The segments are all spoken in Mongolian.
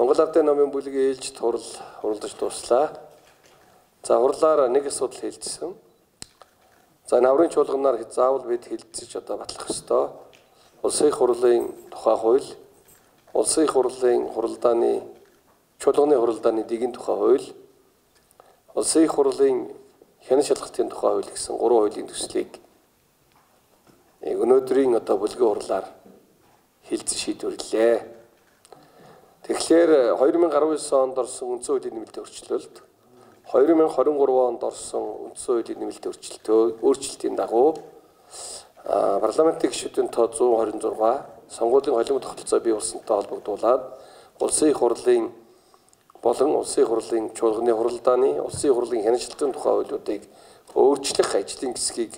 Монгол Ардын номын бүлгийн ээлжид хуралдаж дуслаа. За хурлаар нэг асуудал хэлжсэн. За наврын чуулганаар заавал бид хэлцэж батлах ёстой. Улсын их хурлын тухай хууль, улсын их хурлын хуралдааны чуулганы хуралдааны дэгийн тухай хууль, улсын их хурлын хянан шалгалтын тухай хууль гэсэн 3 хуулийн төслийг өнөөдрийн бүлгийн хурлаар хэлцэж шийдвэрлэлээ. Тэгэхээр 2019 онд орсон үндсэн хуулийн нэмэлтийн өөрчлөлт, 2023 онд орсон үндсэн хуулийн нэмэлтийн өөрчлөлтийн дагуу парламентын гишүүдийн тоо 126, сонгуулийн холимог тогтолцоо бий болсонтой холбогдуулаад улсын их хурлын болон улсын их хурлын чуулганы хуралдааны, улсын их хурлын хянан шалгалтын тухай хуулиудыг өөрчлөх ажлын хэсгийг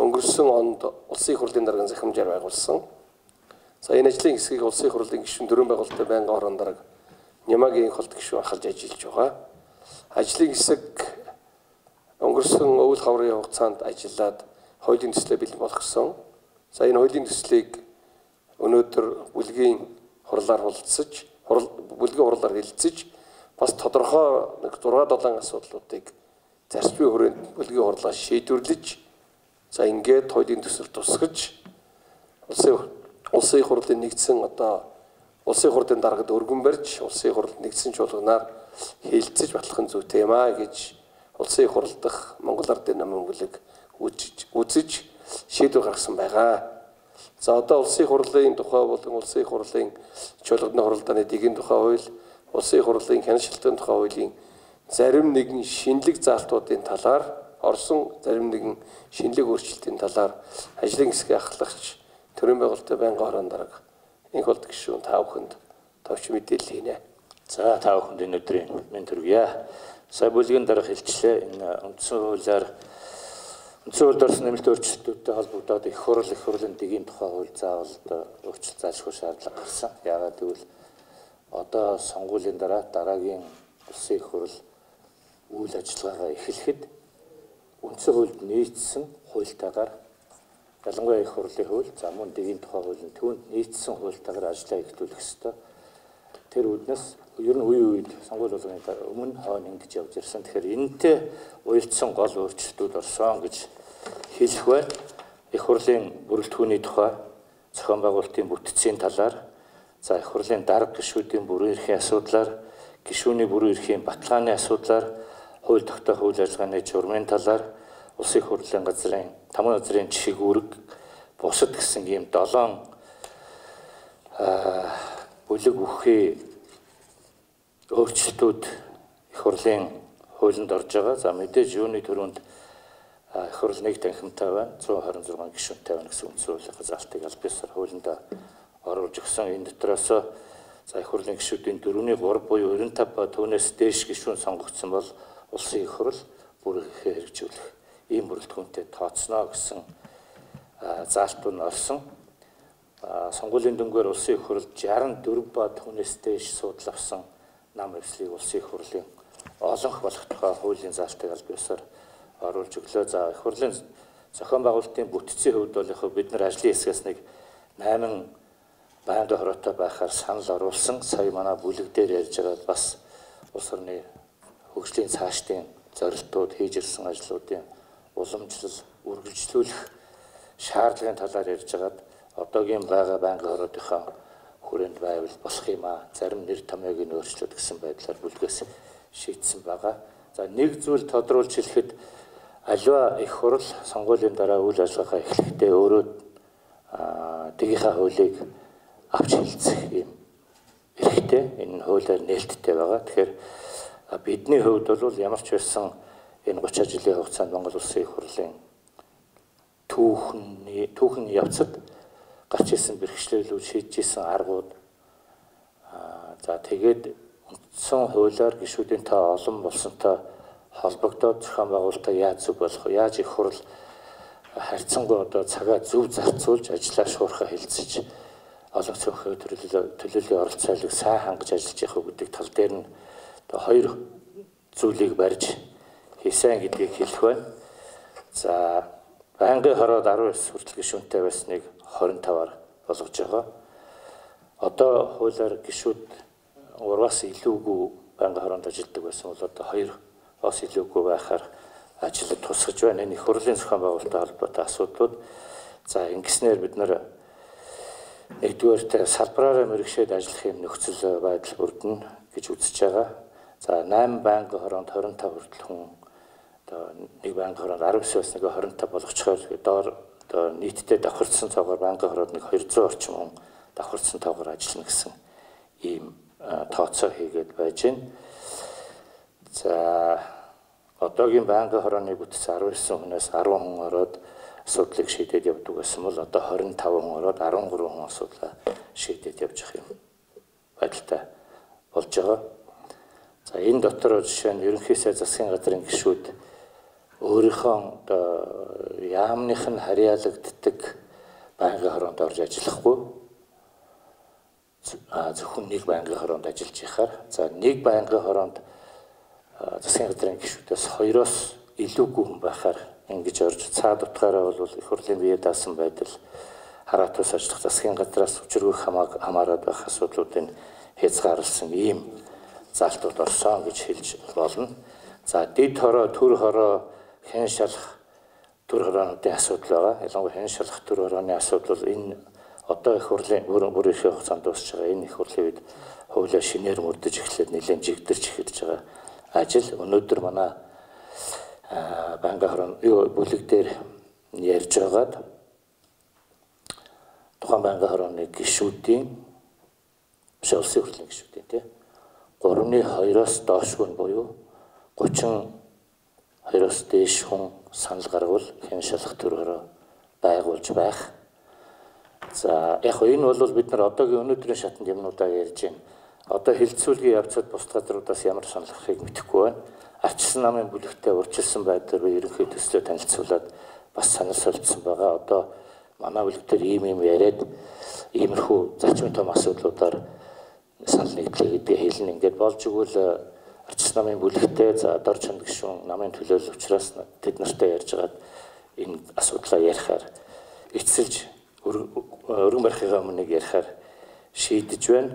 өнгөрсөн онд улсын их хурлын даргын захимжаар байгуулсан. За энэ ажлын хэсгийг улсын их хурлын гишүүн дөрвөн байгуулалтын байнгын орон дарга Нямагийн холт гишүүн ахалж ажиллаж байгаа. Ажлын хэсэг өнгөрсөн өвөл хаврын хугацаанд ажиллаад хуулийн төслөө бэлэн болгосон. За энэ хуулийн төслийг өнөөдөр бүлгийн хурлаар хэлэлцэж бас тодорхой 6-7 асуудлуудыг зарчмын хүрээнд бүлгийн хурлаас шийдвэрлэж за ингээд хуулийн төсөл тусгаж улсын их хурлын нэгдсэн улсын их хурлын даргад өргөн барьж улсын их хурлын нэгдсэн чуулганаар хэлэлцэж батлах зүйтэй юм аа гэж улсын их хурл дахь Монгол Ардын номын бүлэг үзэж шийдвэр гаргасан байгаа. За одоо улсын их хурлын тухай болон улсын их хурлын чуулганы хуралдааны дэгийн тухай хууль, улсын их хурлын хянан шалгалтын тухай хуулийн зарим нэгэн шинэлэг заалтуудын талаар орсон зарим нэгэн шинэлэг өөрчлөлтийн талаар ажлын хэсгийн ахлагч төрийн байгуулалтын байнгын орон дарга энх болд гишүүн та бүхэнд товч мэдээлэл хийнэ. За та бүхэнд энэ өдрийн мэнд хүргье. Сая бүлгийн дарга хэлчлээ энэ үндсэн хуулиар үндсэн хуульд орсон нэмэлт өөрчлөлтүүдтэй холбогдоод их хурлын дэгийн тухай хууль заавал өөрчлөлт заашгүй шаардлага гарсан. Яагаад гэвэл одоо сонгуулийн дараагийн улсын их хурл үйл ажиллагаагаа эхлэхэд үндсэн хуульд нийцсэн хуультайгаар ялангуяа их хурлын хууль, за мөн дэгийн тухай хуулийн түүнд нийцсэн хуультайгаар ажиллаа эхлүүлэх ёстой. Тэр үднэс ер нь үед сонгууль болгоны өмнө хойно ингэж явж ирсэн. Тэгэхээр энэтэй уялдсан гол өөрчлөлтүүд орсон гэж хэлэх байна. Их хурлын бүрэлдэхүүний тухай, зохион байгуулалтын бүтцийн талаар, за их хурлын дарга гишүүдийн бүрэн эрхийн асуудлаар, гишүүний бүрэн эрхийн баталгааны асуудлаар, хууль тогтоох үйл ажиллагааны журмын талаар, улсын их хурлын газрын 5 газрын жишг үүрэг бусад гэсэн ийм 7 бүлэг үхий өөрчлөлтүүд их хурлын хуулинд орж байгаа. За мэдээж юуны төрөнд их хурл нэг танхимтай байна, 126 гишүүнтэй байна гэсэн үндсэн хуулийн заалтыг аль биесээр хуулинд оруулж өгсөн. Энэ дотроос за их хурлын гишүүдийн 4-ний 3 буюу 95 ба түүнээс дээш гишүүн сонгогдсон бол улсын их хурл бүр ихээр хэрэгжүүлэх ийм бүрэлдэхүүнтэй тооцно гэсэн заалт нь орсон. Сонгуулийн дүнгээр улсын их хурл 64 ба түүнээс дээш судал авсан нам эвслийг улсын их хурлын олонх болох тухай хуулийн заалтыг аль биесээр оруулж өглөө. За их хурлын зохион байгуулалтын бүтцийн хувьд бол бид нар ажлын хэсгээс нэг 8 байнгын хороотой байхаар санал оруулсан. Сая манай бүлэг дээр ярьж байгаа бас улс орны хөгжлийн цаашдын зорилтууд хийж ирсэн ажлуудын уламжлал, үргэлжлүүлэх шаардлагын талаар ярьж байгаад одоогийн байгаа байнгын хороотынхаа хүрээнд байвал болох юм аа. Зарим нэр томьёог нь өөрчлөлт гэсэн байдлаар бүлгээс шийдсэн байгаа. За нэг зүйл тодруулж хэлэхэд аливаа их хурл сонгуулийн дараа үйл ажиллагаа эхлэхдээ өөрөө дэгийнхаа хуулийг авч хэлцэх юм эрхтэй. Энэ хуулиар нээлттэй байгаа. Тэгэхээр бидний хувьд бол ямар ч байсан энэ 30 жилийн хугацаанд Монгол Улсын их хурлын түүхэн явцад гарч ирсэн бэрхшээлүүд шийдэж ирсэн аргууд за тэгээд үндсэн хуулиар гишүүдийн тоо олон болсонтой холбогдоод зохион байгуулалтаа яаж зөв болох вэ? Яаж их хурл харьцангуй одоо цагаа зөв зарцуулж ажиллаа шуурхаа хэлцэж олон цөөхөн төлөөллийн оролцоолыг сайн хангаж ажиллаж явах гэдэг тал дээр нь хоёр зүйлийг барьж хийсэн гэдгийг хэлэх байна. За байнгын хороод 19 хүртэл гишүүнтэй байсныг 25-аар болгож байгаа. Одоо хуулиар гишүүд 3-аас илүүгүй байнгын хороонд ажилладаг байсан бол одоо 2-оос илүүгүй байхаар ажилд тусгаж байна. Энэ их хурлын зохион байгуулалттай холбоотой асуудлууд. За ингэснээр бид нар нэгдүгээр салбараараа мэргэшээд ажиллах юм нөхцөл байдал бүрдэнэ гэж үзэж байгаа. За 8 байнгын хороонд 25 хүртэл хүн одоо нэг байнгын хороонд 19-аас 25 болгочихоор доор одоо нийтдээ давхарцсан цаагаар байнгын хороонд нэг 200 орчим хүн давхарцсан тоогоор ажиллана гэсэн ийм тооцоо хийгээд байж байна. За одоогийн байнгын хорооны бүтц 19 хүнээс 10 хүн ороод асуудлыг шийдээд явдаг гэсэн бол одоо 25 хүн ороод 13 хүн асуудлаа шийдээд явж байгаа юм байдалтай болж байгаа. За энэ дотор жишээ нь ерөнхий сайд засгийн газрын гишүүд өөрийнхөө одоо яамных нь харьяалагддаг байнгын хороонд орж ажиллахгүй зөвхөн нэг байнгын хороонд ажиллаж байхаар за нэг байнгын хороонд засгийн газрын гишүүдээс 2-оос илүүгүй хүн байхаар ингэж орж цаад утгаараа бол их хурлын бие даасан байдал хараат ус ажиллах засгийн газраас учиргүй хамаарад байх асуудлуудыг хязгаарласан ийм залтууд орсон гэж хэлж болно. За дэд хороо, төр хороо, хэн шалах төр хороонуудын асуудал байгаа. Ялангуяа хэн шалах төр хорооны асуудал бол энэ одоо их хурлын бүр их хугацаанд дуусж байгаа. Энэ их хурлын үед хуулиа шинээр мөрдөж эхлээд нэлээд жигдэрч эхэлж байгаа ажил. Өнөөдөр манай байнгын хорооны бүлэг дээр ярьж байгаад тухайн байнгын хорооны гишүүдийн улсын хурлын гишүүдийн тийм 3-2-оос доошгүй буюу 32-оос дээш хүн санал гарвал хэн шалах төр хороо байгуулж байх. За яг энэ бол бид нар одоогийн өнөөдрийн шатанд юмнуудаа ярьж байна. Одоо хилцүүлгийн явцад бус газруудаас ямар санал гарахыг мэдэхгүй байна. Ардчилсан намын бүлэгтээ урьдчилсан байдлаар ерөнхий төслөө танилцуулаад бас санал солилцсон байгаа. Одоо манай бүлэг дээр ийм яриад иймэрхүү зарчмын том асуудлуудаар санал нэгдлээ гэдгийг хэлнэ. Ингээд болж игэл ардчилсан намын бүлэгтээ за дор чонд гишүүн намын төлөөлөл учраас тэд нартай ярьж байгаад энэ асуудлаа ярихаар эцэлж өргөн барихыгаа өмнө ярихаар шийдэж байна.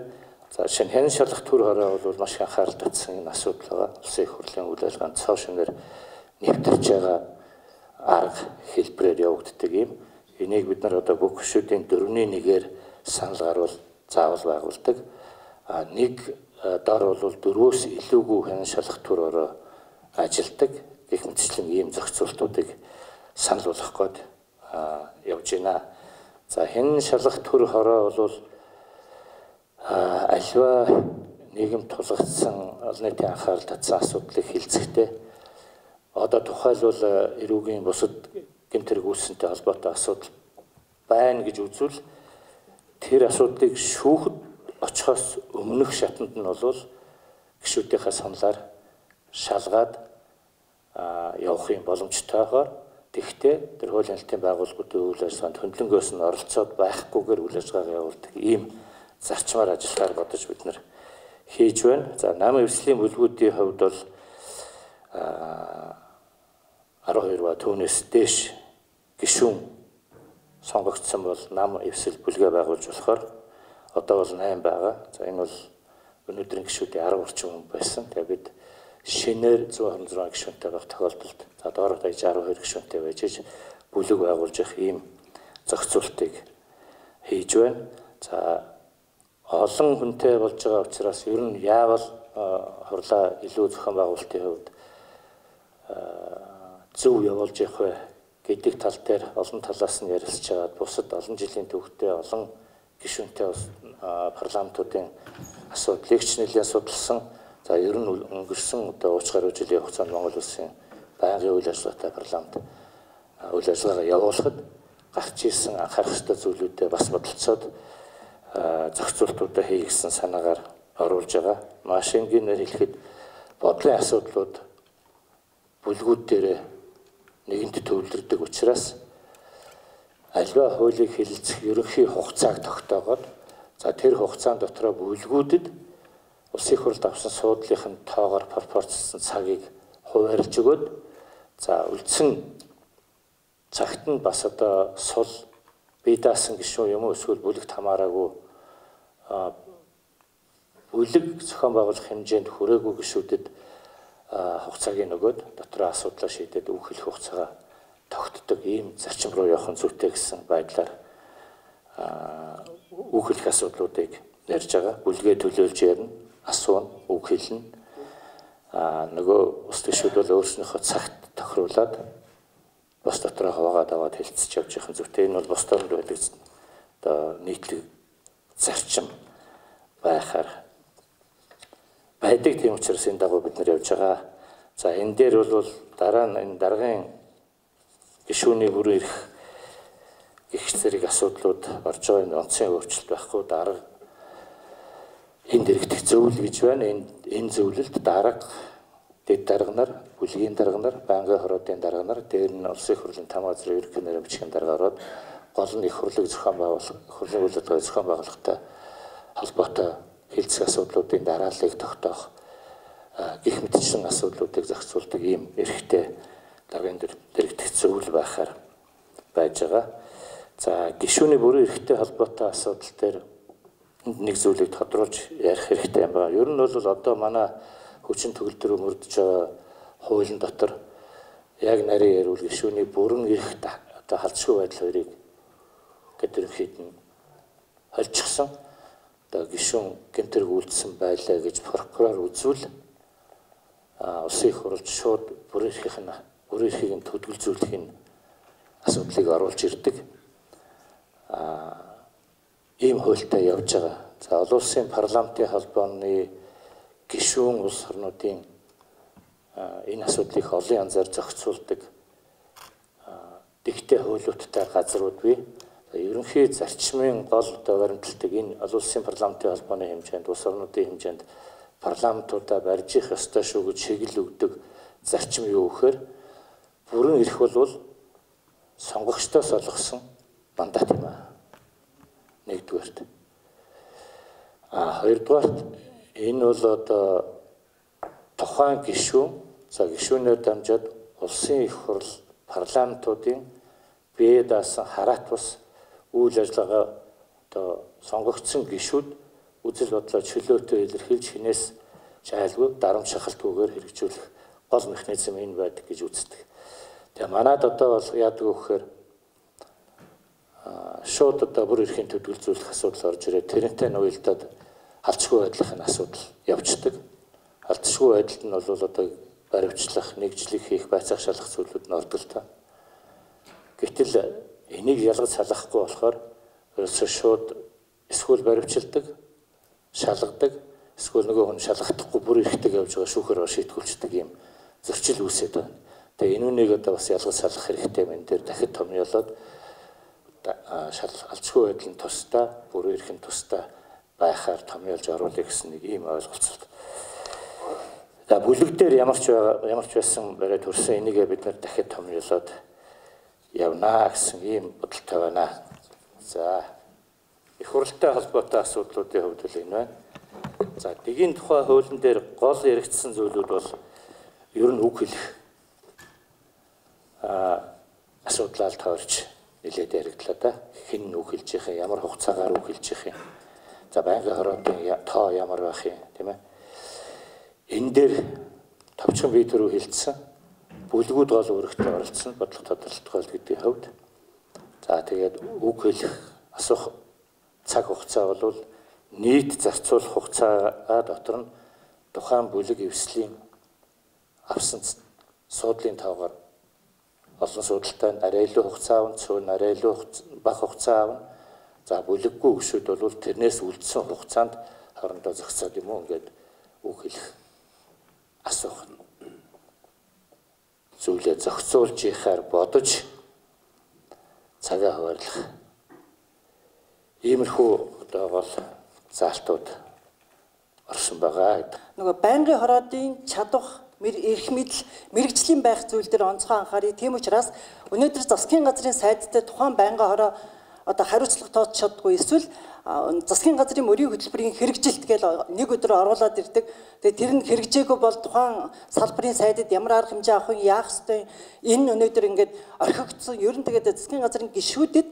За шинэ хэн шалах төр хороо бол маш их анхаарал татсан энэ асуудал байгаа. Улсын их хурлын үйл ажиллагаанд цоо шинээр нэвтэрч байгаа арга хэлбэрээр явагддаг юм. Энийг бид нар одоо бүх гишүүдийн 4-1-ээр санал гарвал заавал байгуулдаг. Нэг дор бол 4-өөс илүүгүй хэн шалах төр хороо ажилдаг. Гэх мэтчлэн ийм зохицуултуудыг санал болгох гээд явж байна. За хэн шалах төр хороо бол альва нийгэм тулгацсан олон нийтийн анхаарал татсан асуудлыг хилцэхдээ одоо тухайлбал эрүүгийн бусад гэмтэрэг үүссэнтэй холбоотой асуудал байна гэж үзвэл тэр асуудлыг шүүхэд очихоос өмнөх шатанд нь бол гишүүдийнхээ саналаар шалгаад явах юм боломжтойгоор тэгвэл тэр хуулийн хэлтийн байгууллагуудын үйл ажиллагаанд хөндлөнгөөс нь оролцоод байхгүйгээр үйл ажиллагаа явуулдаг ийм зарчмаар ажиллахаар бодож бид нар хийж байна. За намын эвслийн бүлгүүдийн хувьд бол 12 ба түүнээс дээш гишүүн сонгогдсон бол нам эвсэл бүлгээ байгуулж болохоор одоо бол 8 байгаа. За энэ бол өнөөдрийн гишүүдийн 10 орчим хүн байсан. Тэгээ бид шинээр 126 гишүүнтэй байх тохиолдолд за доороо даяж 12 гишүүнтэй байж бүлэг байгуулж явах ийм зохицуултыг хийж байна. За олон хүнтэй болж байгаа учраас ер нь яавал хурлаа илүү зохион байгуулалтын хувьд зөв явуулж явах вэ гэдэг тал дээр олон талаас нь ярилцж байгаад бусад олон жилийн түүхтэй олон гишүүнтэй парламентуудын асуудлыг ч нэлээд судалсан. За ер нь өнгөрсөн одоо 30 гаруй жилийн хугацаанд Монгол улсын байнгын үйл ажиллагаатай парламент үйл ажиллагаа явуулахад гарч ирсэн анхаарах ёстой зүйлүүдэд бас бодолцоод зохицуултуудаа хийгсэн санаагаар оруулж байгаа. Маш энгийнээр хэлэхэд бодлын асуудлууд бүлгүүд дээр нэгэнт төвлөрдөг учраас альва хуулийг хэлэлцэх ерөнхий хугацааг тогтоогоод за тэр хугацаанд дотроо бүлгүүдэд улсын их хурлд авсан суудлынхын тоогоор пропорцлсон цагийг хуваарлж өгөөд за үлдсэн цагт нь бас одоо сул бие даасан гишүүн юм уу эсвэл бүлэгт хамаараагүй бүлэг зохион байгуулах хэмжээнд хүрээгүй гишүүдэд хугацааг нөгөөд дотроо асуудлаа шийдээд үхэлэх хугацаагаа тогтдог ийм зарчим руу явах нь зүйтэй гэсэн байдлаар үхэлэх асуудлуудыг ярьж байгаа. Бүлгээ төлөөлж ярина, асууна, үг хэлнэ. Нөгөө ус гишүүд бол өөрснийхөө цагт тохируулаад бос дотроо хаваагаад аваад хэлцэж явж байгаа зүйтэй. Энэ бол бос тоонд байдаг одоо нийтлэг зарчим байхаар байдаг. Тийм учраас энэ дагуу бид нар явж байгаа. За энэ дээр бол дараа нь энэ даргын гишүүний бүрэн эрх гэх зэрэг асуудлууд орж байгаа. Энэ онцгийн өөрчлөлт байхгүй дарга энэ дэрэгдэх зөвлөл гэж байна. Энэ зөвлөлд дарга, дэд дарга нар, бүлгийн дарга нар, байнгын хороодын дарга нар, дээр нь улсын их хурлын 5 газрын ерөнхий нарийн бичгийн дарга ороод гол нь их хурлыг зохион байгуулах, хурлын үйл ажиллагааг зохион байгуулахтай холбоотой хэлцэх асуудлуудын дарааллыг тогтоох гэх мэтчилэн асуудлуудыг зохицуулдаг ийм эрхтэй даргын дэрэгдэх зөвлөл байхаар байж байгаа. За гишүүний бүрэн эрхтэй холбоотой асуудал дээр нэг зүйлийг тодруулж ярих хэрэгтэй юм байна. Ер нь бол одоо манай хүчин төгөлдрөө мөрдөж байгаа хуулийн дотор яг нарийн ярил гишүүний бүрэн эрх одоо халдшгүй байдал хоёрыг гэдэрхэд нь холжчихсан. Одоо гишүүн гэмтэрэг үйлдсэн байлаа гэж прокурор үзвэл улсын их хурлд шууд бүрэн эрхийг нь төдөлзүүлэхийн асуудлыг оруулж ирдэг. Ийм хуультай явж байгаа. За олон улсын парламентын холбооны гишүүн улс орнуудын энэ асуудлыг олон янзаар зохицуулдаг дэгтэй хуулиудтай газрууд бий. Ерөнхий зарчмын гол одоо баримталдаг энэ олон улсын парламентын холбооны хэмжээнд, улс орнуудын хэмжээнд парламентуудаа барьж их ёстой шүү гэж шигэл өгдөг зарчим юу гэхээр бүрэн эрх бол сонгогчдоос олгосон мандат юм аа. Нэгдүгээрт. Хоёрдугаарт энэ бол одоо тухайн гишүүн, за гишүүнээр дамжаад улсын их хурл парламентуудын бие даасан хараат бус үйл ажиллагаа одоо сонгогдсон гишүүд үзэл бодлоо чөлөөтэй илэрхийлж хинээс жайлгүй дарамт шахалтгүйгээр хэрэгжүүлэх гол механизм энэ байдаг гэж үздэг. Тэгээ манайд одоо бол яадаг вэ гэхээр шууд одоо бүр эрхийн төдөлзүүлэх асуудал орж ирээд тэрнтэй нуйлдаад халдшгүй байдлын асуудал явждаг. Халдшгүй байдалд нь бол одоо баримтлах, нэгжлэх хийх, байцаах шалгах зүйлүүд нь ордог л та. Гэтэл энийг ялгаж салгахгүй болохоор ерөөсөө шууд эсвэл баримтчилдаг, шалгадаг, эсвэл нөгөө хүн шалгахдаггүй бүр эрхтэй явж байгаа шүүхээр шийтгүүлждэг юм зөрчил үүсээд байна. Тэгээ энэ үнийг одоо бас ялгаж салгах хэрэгтэй юм. Энэ дээр дахид томьёолоод алчгүй байдлын тусдаа, бүр эрхийн тусдаа байхаар томьёолж оруулах гэсэн нэг ийм ойлголцол. За бүлэг дээр ямар ч байсан барай төрсөн энийгээ бид нар дахид томьёолоод явнаа гэсэн ийм бодолтой байна. За их хурлтай холбоотой асуудлуудын хувьд л энэ байна. За дэгийн тухай хуулийн дээр гол яригдсан зүйлүүд бол ер нь үг хэлэх асуудлаар таарч нэлээд яригдлаа да. Хэн үг хэлж их юм, ямар хугацаагаар үг хэлж их юм. За байнгын хороодын тоо ямар байх юм, тийм ээ. Энэ дээр товчхон бие төрөө хилцсэн. Бүлгүүд гол үүрэгтэй оролцсон бодлого тодорхойлт гэдгийн хувьд. За тэгээд үг хэлэх асуух цаг хугацаа бол нийт зарцуулах хугацаа дотор нь тухайн бүлэг эвслийн авсан суудлын тоогоор олон суудалтай арай илүү хугацаа авна, цөөн арай илүү бага хугацаа авна. За бүлэггүй гишүүд бол тэрнээс үлдсэн хугацаанд хоорондоо зохицоод юм уу ингээд үг хэлэх асуух зүйлээ зохицуулж ихаар бодож цагаа хуваарлах иймэрхүү одоо гол заалтууд орсон байгаа. Нөгөө байнгын хороодын чадвах эрх мэдэл мэрэгжлийн байх зүйл дээр онцгой анхаарыг. Тийм учраас өнөөдөр засгийн газрын сайдтай тухайн байнгын хороо одоо хариуцлага тооч чаддгүй эсвэл засгийн газрын мөрийн хөтөлбөрийн хэрэгжилт гэж нэг өдөр оруулаад ирдэг. Тэгээ тэр нь хэрэгжээгүй бол тухайн салбарын сайдад ямар арга хэмжээ авах вэ, яах ёстой. Энэ өнөөдөр ингээд орхигдсон. Ер нь тэгээд засгийн газрын гишүүдэд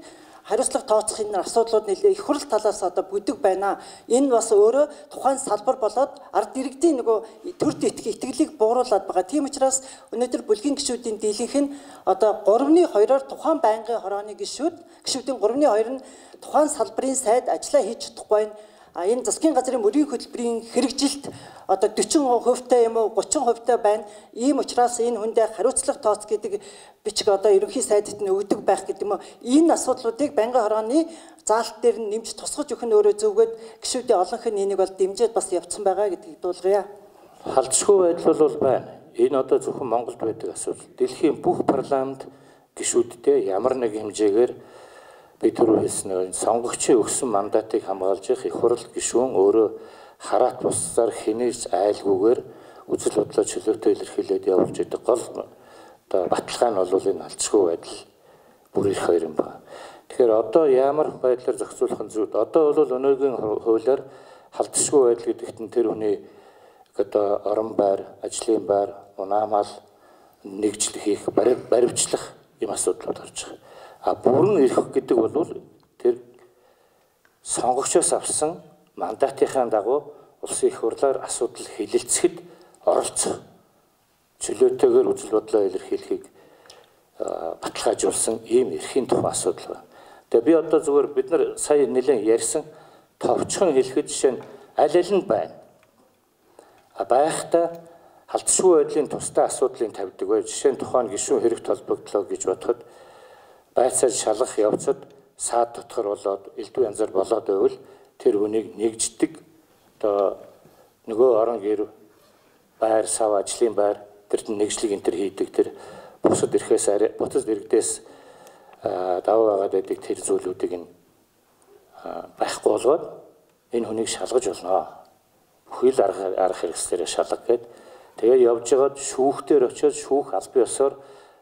хариуцлага тооцох энэ асуудлууд нэлээ их хурл талаас одоо бүдэг байна. Энэ бас өөрөө тухайн салбар болоод ард иргэдийн нөгөө төр итгэлийг бууруулад байгаа. Тийм учраас өнөөдөр бүлгийн гишүүдийн дийлэнх нь одоо 3-2-оор тухайн байнгын хорооны гишүүдийн 3-2 нь тухайн салбарын сайд ажиллаа хийж чадахгүй байна. Энэ засгийн газрын мөрийн хөтөлбөрийн хэрэгжилт одоо 40% юм уу 30% байна. Ийм учраас энэ хүндээ хариуцлага тооц гэдэг бичиг одоо ерөнхий сайдд нь өгдөг байх гэдэг юм уу. Энэ асуудлуудыг байнгын хорооны заалт дээр нь нэмж тусгаж өгөх нь өөрөө зөвгөөд гишүүдийн олонх нь энийг бол дэмжиж бас явцсан байгаа гэдгийг дуулгая. Халдшгүй байдал бол байна. Энэ одоо зөвхөн Монголд байдаг асуудал. Дэлхийн бүх парламент гишүүдтэй ямар нэг хэмжээгээр бид түрүү хэлсэн сонгогчийн өгсөн мандатыг хамгаалж их хурл гишүүн өөрөө хараат бусдаар хинээс айлгүйгээр үзэл бодлоо чөлөөтэй илэрхийлээд явуулж идэг гол одоо баталгаа нь бол энэ халдшгүй байдал бүр их хоёр юм байна. Тэгэхээр одоо ямар байдлаар зохицуулах нь зүйд одоо бол өнөөгийн хуулиар халдшгүй байдал гэдэгт нь тэр хүний одоо орон байр, ажлын байр, унаамал нэгжлэх хийх, баривчлах юм асуудлууд гарч байгаа. Бүрэн ирэх гэдэг бол тэр сонгогчоос авсан мандатынхаа дагуу улсын их хурлаар асуудал хилэлцэхэд оролцох чөлөөтэйгээр үзэл бодлоо илэрхийлэхийг баталгаажуулсан ийм эрхийн тухай асуудал байна. Тэгээ би одоо зүгээр бид нар сая нэлээд ярьсан товчхон хэлэхэд жишээ нь аль нь байна. Байхдаа халдшгүй байдлын тусдаа асуудлыг тавьдаг бай. Жишээ нь тухайн гишүүн хэрэг толбогдлоо гэж бодоход байцаар шалгах явцад саад дотгор болоод элдв янзаар болоод байвал тэр хүнийг нэгждэг одоо нөгөө орон гэр байр сав ажлын байр тэрд нэгжлэг энэ төр хийдэг тэр бусад иргэдээс даваа байгаад байдаг тэр зүйлүүдийг нь байхгүй болгоод энэ хүнийг шалгаж болно. Бүхэл арга хэрэгслээрээ шалгах гээд тэгээ явж байгаад шүүхтэр очиод шүүх аль бие ёсоор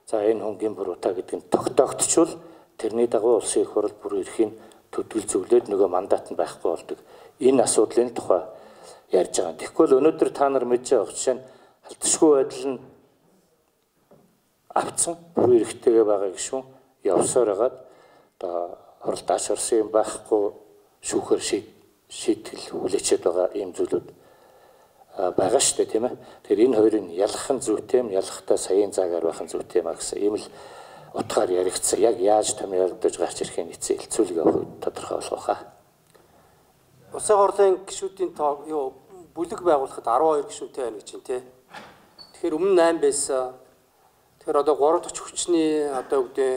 за энэ хүнгийн буруутай гэдэг нь тогтоогдчихвол тэрний дагуу улсын их хурл бүр эрхийн төдгөл зөвлөд нөгөө мандат нь байхгүй болдог. Энэ асуудлын тухай ярьж байгаа. Тэгэхгүй л өнөөдөр та нар мэдж байгаа жишээ нь халдшгүй байдал нь авцсан бүр эрхтэйгээ байгаа гишүүн явсаар хагаад одоо хурл дааш орсон юм байхгүй шүүхээр шийтгэл хүлээчээд байгаа ийм зүйлүүд байгаа шүү дээ тийм ээ. Тэгэхээр энэ хоёрын ялгах нь зүйтэй юм, ялгахтаа саяын заагаар байх нь зүйтэй юм гэсэн ийм л утгаар яригдсан. Яг яаж томьёолдож гарч ирэхээ нийцээ хэлцүүлэг тодорхой болгох хаа. Улсын хурлын гишүүдийн тоо бүлэг байгуулахад 12 гишүүнтэй байна гэж байна тий. Тэгэхээр өмнө 8 байсан. Тэгэхээр одоо 3 дахь хүчний одоо үгдээ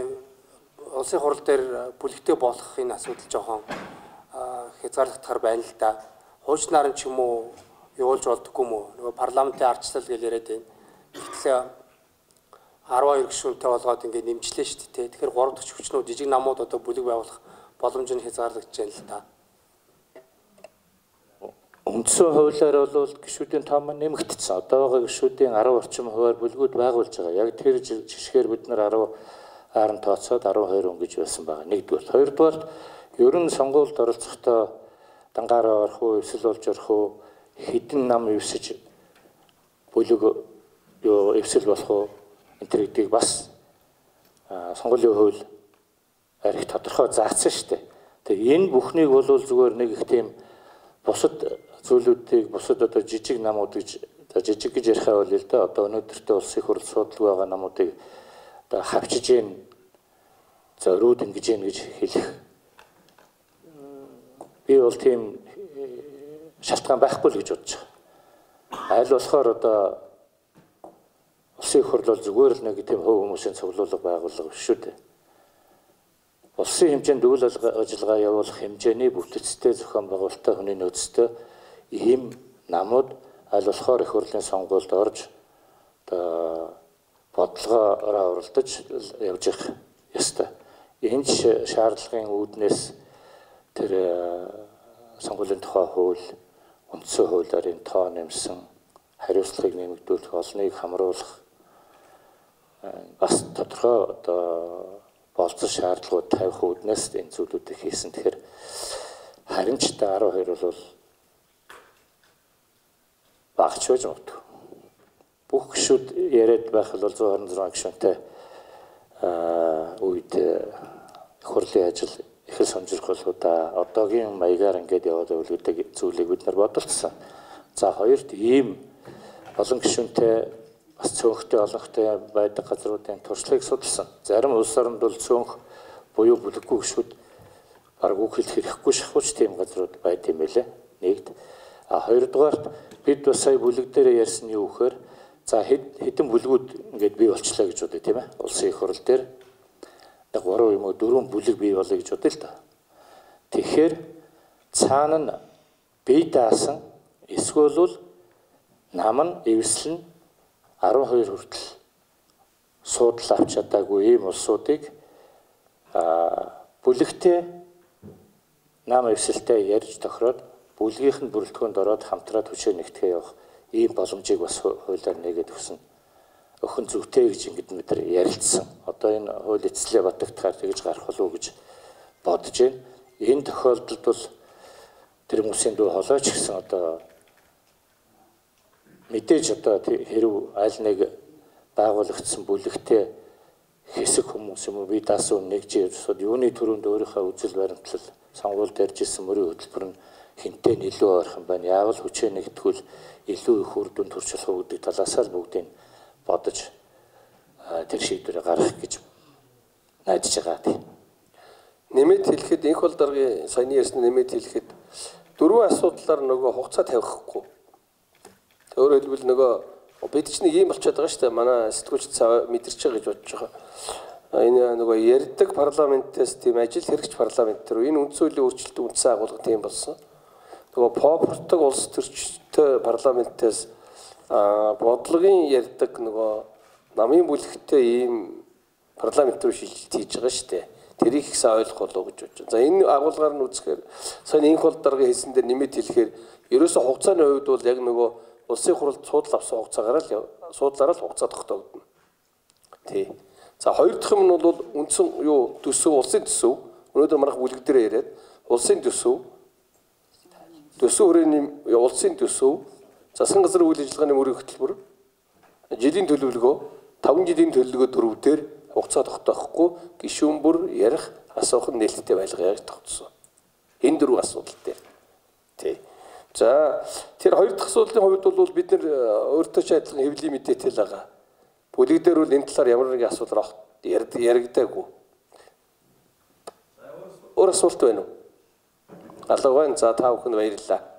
улсын хурал дээр бүлэгтэй болох энэ асуудал жоохон хязгаарлагдахаар байна л да. Хуучнаар нь ч юм уу явуулж болдоггүй юм уу? Нөгөө парламентын ардчлал гэж яриад байна. Гэтэл 12 гишүүнтэй болгоод ингээд нэмжлээ шүү дээ. Тэгэхээр 3 дахь хүчнүүд жижиг намууд одоо бүлэг байгуулах боломж нь хязгаарлагдаж байна л да. Үндсэн хуулиар бол гишүүдийн тоо маань нэмэгдсэн. Одоо байгаа гишүүдийн 10 орчим хувиар бүлгүүд байгуулж байгаа. Яг тэр жишгээр бид нар 10 тооцоод 12 өнгөж байсан байгаа. Нэгдүгээр. Хоёрдугаар ер нь сонгуульд оролцохдоо дангаараа орох уу, эвсэл болж орох уу, хэдэн нам эвсэж бүлэг эвсэл болох уу энэ төр гэдгийг бас сонгуулийн хууль арих тодорхой заасан шүү дээ. Тэгээ энэ бүхнийг бол зүгээр нэг их тийм бусад зүйлүүдийг бусад одоо жижиг намууд гэж жижиг гэж ярихаа бол л да одоо өнөөдөртөө улсын хурл судалг байгаа намуудыг одоо хавчиж гин зориуд ингэж гин гэж хэлэх би бол тийм шалтгаан байхгүй л гэж бодож байгаа. Аль болохоор одоо улсын хурл бол зүгээр л нэг тийм хувь хүмүүсийн цуглуулга байгууллага биш шүү дээ. Улсын хэмжээнд үйл ажиллагаа явуулах хэмжээний бүтцтэй зохион байгуулалттай хүний нөөцтэй ийм намууд аль болохоор их хурлын сонгуульд орж одоо бодлогоороо оролдож явж явах ёстой. Энэ шаардлагын үүднээс тэр сонгуулийн тухай хууль, үндсэн хуулиар энэ тоо нэмсэн, хариуцлагыг нэмэгдүүлэх, олныг хамруулах бас тодорхой одоо болцсон шаардлагууд тавих үүднээс энэ зүйлүүдийг хийсэн. Тэгэхээр харин ч 12 бол багч байж магадгүй. Бүх гишүүд яриад байх бол 126 гишүүнтэй үед хурлын ажил их сонирхол удаа одоогийн маягаар ингээд яваад байвал гэдэг зүйлийг бид нар бодолцсон. За хоёрт ийм олон гишүүнтэй бас цөөнхтэй олонхтой байдаг газруудын туршлагыг судалсан. Зарим улс оронд бол цөөнх буюу бүлэггүй гишүүд бараг үг хэлэх хэрэггүй шахууч тийм газрууд байд юм байлээ. Нэгд. Хоёрдугаарт бид бас сая бүлэг дээр ярьсан юу гэхээр за хэдэн бүлгүүд ингээд бий болчлаа гэж бодъё тийм ээ. Улсын их хурал дээр 3 юм уу 4 бүлэг бий болъё гэж бодъё л да. Тэгэхээр цаана нь бие даасан эсвэл нам нь эвслэн 12 хүртэл суудлаа авч чадаагүй ийм улсуудыг бүлэгтэй нам эвсэлтэй ярьж тохироод бүлгийнх нь бүрэлдэхүүнд ороод хамтраад хүчээр нэгтгэе явах ийм боломжийг бас хуулиар нэгээд өгсөн. Өхөн зүгтэй гэж ингэдэг бид нар ярилцсан. Одоо энэ хууль эцэслээ батгахаар тэгж гарах болов уу гэж бодож байна. Энэ тохиолдолд бол тэр хүмүүсийн дүү холооч гэсэн одоо мэдээж одоо хэрв аль нэг байгуулагдсан бүлэгтэй хэсэг хүмүүс юм уу би даасан нэгж явсод юуны төрөнд өөрийнхөө үзэл баримтлал сонгуульд ярьж исэн мөрийн хөтөлбөр нь хинтээ илүү ойрхон байна. Яавал хүчээ нэгтгүүл илүү их үр дүн төрж болох уу гэдэг талаас нь бүгдийг бодож тэр шийдвэрээ гаргах гэж найдаж байгаа тийм. Нэмээд хэлэхэд энх бол даргын саяны ярьсан нэмээд хэлэхэд дөрвөн асуудлаар нөгөө хугацаа тавихгүй. Өөрөөр хэлбэл нөгөө бид ч нэг юм болчиход байгаа шүү дээ. Манай сэтгүүлч мэдэрч байгаа гэж бодож байгаа. Энэ нөгөө ярьдаг парламентээс тийм ажил хэрэгч парламент төр энэ үндсэн хуулийн өөрчлөлт үндсэн агуулга тийм болсон. Нөгөө попортог улс төрчтэй парламентээс бодлогын ярьдаг нөгөө намын бүлэгтэй ийм парламент руу шилжилт хийж байгаа шүү дээ. Тэрийг их сайн ойлгох болов гэж бодож байна. За энэ агуулгаар нь үзэхээр сайн энх бол дарга хэлсэн дээр нэмэт хэлэхээр ерөөсө хугацааны хувьд бол яг нөгөө улсын хуралд судал авсан хугацаагаар л судлаараа л хугацаа тогтоогдно. Тий. За хоёр дахь юм нь бол үндсэн юу төсөв улсын төсөв. Өнөөдөр манайх бүлэг дээр яриад улсын төсөв хүрээний улсын төсөв засгийн газрын үйл ажиллагааны мөрийн хөтөлбөр жилийн төлөвлөгөө 5 жилийн төлөвлөгөө дөрвдөр хугацаа тогтоохгүй гишүүн бүр ярих асуух нь нээлттэй байлгая гэж тогтсон. Энэ дөрвөн асуудал дээр. Тий. За тэр хоёр дахь асуудлын хувьд бол бид нэр өөртөө ч адилхан хэвлэлийн мэдээтэй л байгаа. Бүлэг дээр бол энэ талаар ямар нэгэн асуудал яригдаагүй. Өөр асуулт байна уу? Алга байна. За та бүхэнд баярлалаа.